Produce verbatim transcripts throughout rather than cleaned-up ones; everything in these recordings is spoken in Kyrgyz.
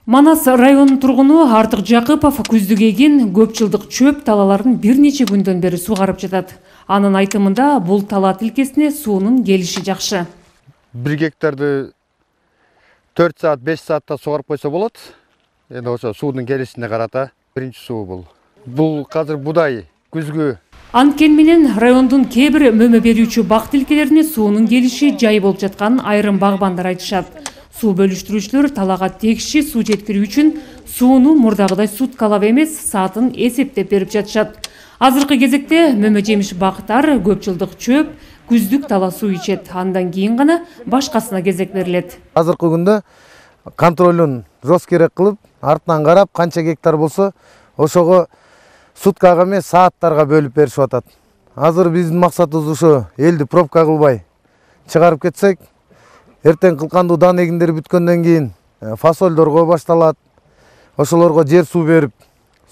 Манас районунун тургуну Артык Жакыпов күздүк эгин көп жылдык чөп талаларын бир нече күндөн бери сугарып жатат. Анын айтымында бул тала тилкесине суунун келиши жакшы. бир гектарды төрт саат беш саатта сугарып койсо болот. Эми ошо суунун келишине карата биринчи суу бул. Бул азыр будай күзгү. Анткени менен райондун кээ бир мөмө берүүчү бак тилкелерине суунун келиши жай болуп жатканын айрым багбандар айтышат. Суу бөлүштүрүүчүлөр талага тегиши суу жеткирүү үчүн сууну мурдагыдай суткалап эмес, саатын эсептеп берип жатышат. Азыркы кезекте мөмө жемиш бактар көп жылдык чөп, күздүк тала суу ичет. Андан кийин гана башкасына кезек берилет. Азыркы күндө контролун жоз керек кылып, артынан карап, канча гектар болсо, ошого суткага эмес, сааттарга бөлүп беришип атат. Азыр биздин максатыбыз ушо элди пробка кылбай чыгарып кетсек, эртең кылкандуу дан эгиндер бүткөндөн кийин фасолдорго башталат. Ошолорго жер суу берип,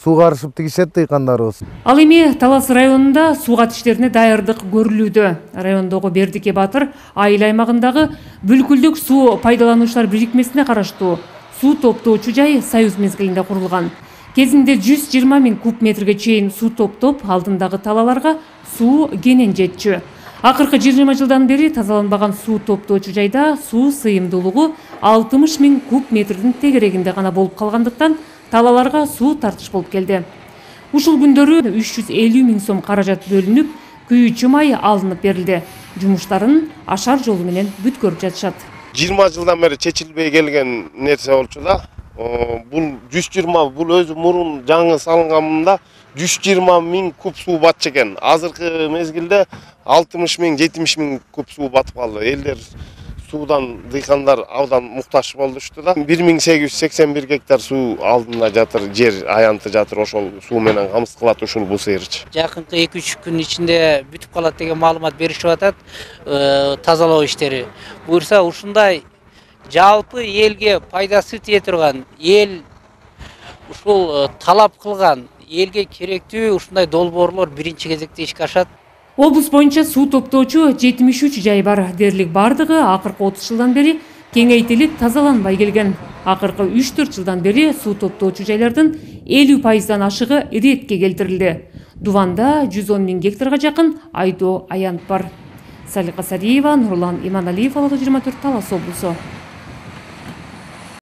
суугарышып тигишет дыйкандарыбыз. Ал эми Талас районунда сууга иштерине даярдык көрүлүүдө. Райондогу Бердике Батыр айыл аймагындагы бүлкүлдүк суу пайдалануучулар бирикмесине караштуу суу топтоочу жай союз мезгилинде курулган. Кезинде жүз жыйырма миң куб метрге чейин суу топтоп, алдындагы талаларга суу кенен жетчү. Акыркы жыйырма жылдан бери тазаланбаган суу топтоочу жайда суу сыйымдуулугу алтымыш миң куб метрдин тегерегинде гана болуп калгандыктан талаларга суу тартыш болуп келди. Ушул күндөрү үч жүз элүү миң сом каражат бөлүнүп, күйүүчү май алынып берилди. Жумуштарын ашар жолу менен бүткөрүп жатышат. жыйырма жылдан бери чечилбей келген нерсе болчу да. Бул жүз жыйырма, бул өзү мурун жаңы салынганда жүз жыйырма миң куб суу батчу экен. Азыркы мезгилде алтымыш миң, жетимиш миң куб суу батып калды. Элдер суудан, дыйкандар абдан муктаж болушту да. бир миң сегиз жүз сексен бир гектар суу алдында жатыр, жер аянты жатыр, ошол суу менен камсыз кылат ушул бул сыйырчы. Жакынкы эки үч күн ичинде бүтүп калат деген маалымат беришип атат, тазалоо иштери. Буюрса ушундай жалпы элге пайдасы тие турган, эл ушул талап кылган, элге керектүү ушундай долбоорлор биринчи кезекте ишке ашат. Облус боюнча суу топтоочу жетимиш үч жай бар. Дерлик бардыгы акыркы отуз жылдан бери кеңейтилип тазаланбай келген. Акыркы үч төрт жылдан бери суу топтоочу жайлардын элүү пайыздан ашыгы иретке келтирилди. Дуванда жүз он миң гектарга жакын айдоо аянт бар. Салика Сариева, Нурлан Иманалиев, Ала жыйырма төрт, Талас облусу.